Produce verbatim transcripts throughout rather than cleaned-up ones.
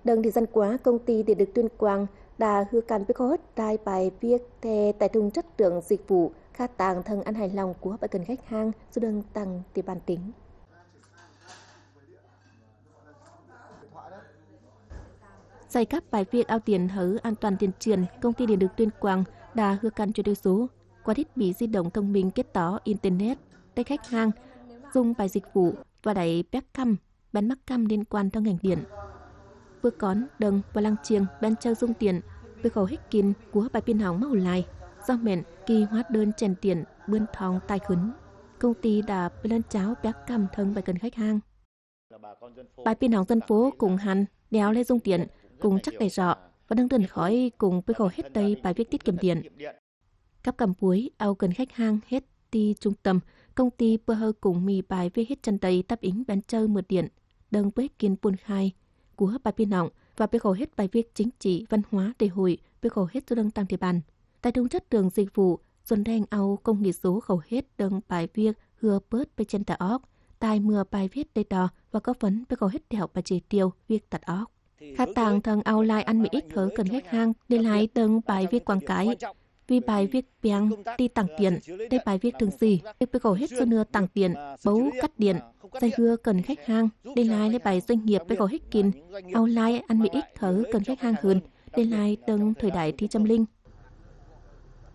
Đơ̆ng thời gian qua, Công ty Điện lực Tuyên Quang đã hứa cam với hầu hết đai bài viết thẻ tài thùng chất lượng dịch vụ, kha tàng thâng ăn hài lòng của bài cần khách hàng, dù đơ̆ng tặng địa bàn tỉnh. Giải đáp bài viết ao điện hở an toàn điện truyền, Công ty Điện lực Tuyên Quang đã hứa cam chuyển đổi số qua thiết bị di động thông minh kết nối internet, để khách hàng dùng bài dịch vụ và đảy piak căm, bản mắc căm liên quan trong ngành điện. Bơ cón, đơ̆ng và lăng chiêng, bên châu dùng điện, bơ khổ hích kin của bài pin hỏng màu lai, do mẹn kỳ hóa đơn chèn điện bươn thong tài khứn. Công ty đã bê lăn cháo piak căm thâng bài cần khách hàng. Bài pin hỏng dân phố cũng hăn, đéo lê dùng điện, cũng chắc đảy rõ, và đương đơn khỏi cũng bơ khổ hết đây bài viết tiết kiệm điện. Cắp căm puối, ao cần khách hàng hết ti trung tâm, công ty bơ hơ cũng mì bài viết hết chân đây đáp ứng bên châu mượt điện, đơ̆ng bơ hích kin buôn khai của bài pin hỏng, và bơ khổ hết bài viết chính trị, văn hóa, lễ hội, bơ khổ hết số đơ̆ng tăng địa bàn. Tài thùng chất lượng dịch vụ, dồn đen ao công nghệ số khổ hết đơ̆ng bài viết hưa bớt bê chen tả óc, tài mưa bài viết đê đo và có phấn bơ khổ hết đẹo và chỉ tiêu việc tặt óc. Kha tàng thâng ao lai ăn mì ích hở cần khách hàng, để lai đơ̆ng bài viết quảng cáo. Vì bài viết piang ti tặng điện, để bài viết thường xì, để bơ khổ hết số nưa tặng điện, bấu cắt điện, giải hứa cần khách hàng, để lai lê bài doanh nghiệp bơ khổ hích kin, ao lai ăn mì ích hở cần khách hàng hơn, để lai đơ̆ng thời đại thi chăm linh.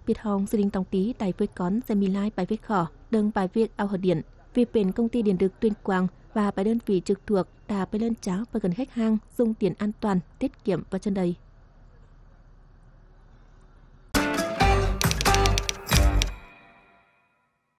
Biệt hòng, Sư Đinh Tòng Tý đảy với cón sẽ mì lai bài viết khỏ, đơ̆ng bài viết ao hở điện, vì bên Công ty Điện lực Tuyên Quang và bài đơn vị trực thuộc đã bê lăn cháo và cần khách hàng dùng điện an toàn, tiết kiệm và chân đầy.